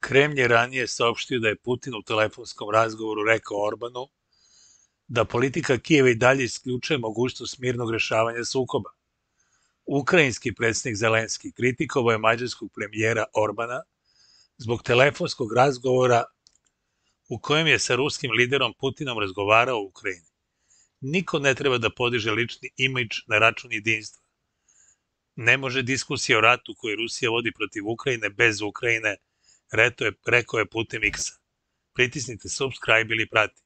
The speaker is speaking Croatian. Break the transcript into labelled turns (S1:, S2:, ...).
S1: Kremlj je ranije saopštio da je Putin u telefonskom razgovoru rekao Orbanu da politika Kijeva i dalje isključuje mogućnost mirnog rešavanja sukoba. Ukrajinski predsjednik Zelenski kritikovao je mađarskog premijera Orbana zbog telefonskog razgovora u kojem je sa ruskim liderom Putinom razgovarao o Ukrajini. Niko ne treba da podiže lični imidž na račun jedinstva. Ne može diskusija o ratu koju Rusija vodi protiv Ukrajine bez Ukrajine, rekao je putem X-a. Pritisnite subscribe ili prati.